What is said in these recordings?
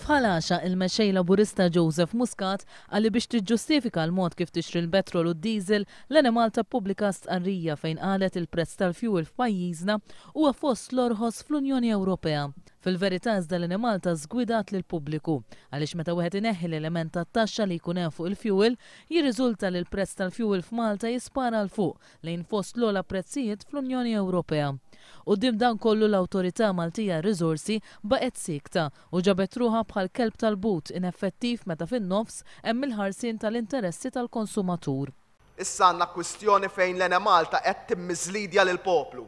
F'Ħal Għaxaq, il-Mexxej Laburista Joseph Muscat qal li biex tiġġustifika l-mod kif tixtri l-petrol u d-diesel, l-Enemalta ppubblikat stqarrija fejn qalet il-prezz tal-fjuwil f'pajjiżna huwa fost l-orħos fl-Unjoni Ewropea. Fil-verità iżda l-Enemalta żgwidat lill-pubbliku għaliex meta wieħed ineħħi l-element tat-taxxa li jkun hemm fuq il-fjuwil, jirriżulta li l-prezz tal-fjuwil f'Malta jispara 'l fuq lejn fost l-ogħla prezzijiet fl-Unjoni Ewropea. Quddiem dan kollu l-Awtorità Maltija għar-Riżorsi baqgħet siekta u ġabet ruħha bħal kelb tal-but ineffettiv meta fin-nofs hemm il-ħarsien tal-interessi tal-konsumatur. Issa għandna kwistjoni fejn l-Enemalta qed timmiżlidja lill-poplu.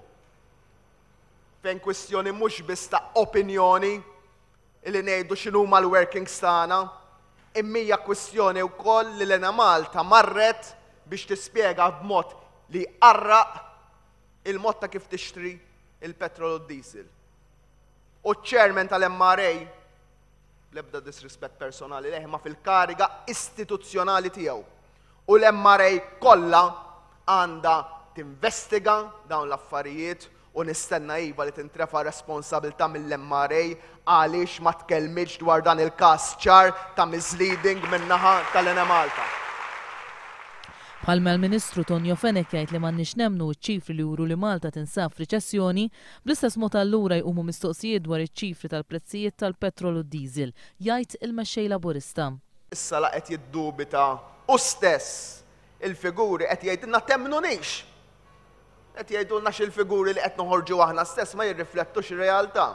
Fejn kwistjoni mhux biss ta' opinjoni li ngħidu x'inhuma l-workings tagħna, imma hija kwistjoni wkoll li l-Enemalta marret biex tispjega b'mod li jqarraq il-mod ta' kif tixtri il-petrol u d-diesel. U ċ-chairman tal-MRA, bl-ebda disrispett personali lejh, ma fil-kariga istituzzjonali tiegħu. U l-MRA kollha għandha tinvestiga dawn l-affarijiet u nistenna iva li tintrefa' responsabilità mill-MRA għaliex ma tkellmitx dwar dan il-każ ċar ta' misleading min-naħa tal-Enemalta. Bħalma l-Ministru Tonio Fenech jgħid li m'għandniex nemmnu ċ-ċifri li juru li Malta tinsab f'riċessjoni, bl-istess mod allura jqumu mistoqsijiet dwar iċ-ċifri tal-prezzijiet tal-petrol u d-diesel, jgħid il-Mexxej Laburista. Issa la qed jiddubita hu stess il-figuri qed jgħidilna temmnunix. Qed jgħidulna x'il-figuri li qed noħorġu aħna stess ma jirriflettux ir-realtà.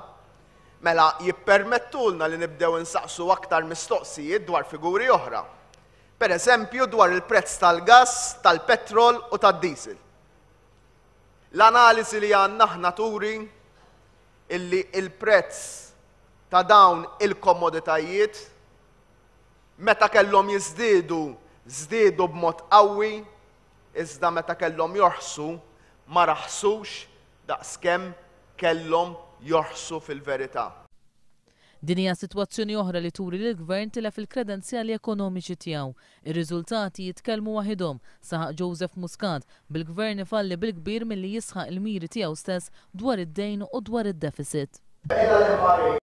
Mela jippermettulna li nibdew insaqsu aktar mistoqsijiet dwar figuri oħra. Per eżempju dwar il-prezz tal-gass, tal-petrol u tad-diesel. L-analiżi li għandna aħna turi illi il-prezz ta' dawn il-komoditajiet meta kellhom jiżdiedu, żdiedu b'mod qawwi, iżda meta kellhom jorħsu ma raħsux daqskemm kellhom jorħsu fil-verità. Din hija sitwazzjoni oħra li turi li l-Gvern tilef il-kredenzjali ekonomiċi tiegħu. Ir-riżultati jitkellmu waħidhom, saħaq Joseph Muscat, bil-Gvern ifalli bil-kbir milli jisħaq il-miri tiegħu stess dwar id-dejn u dwar id-deficit.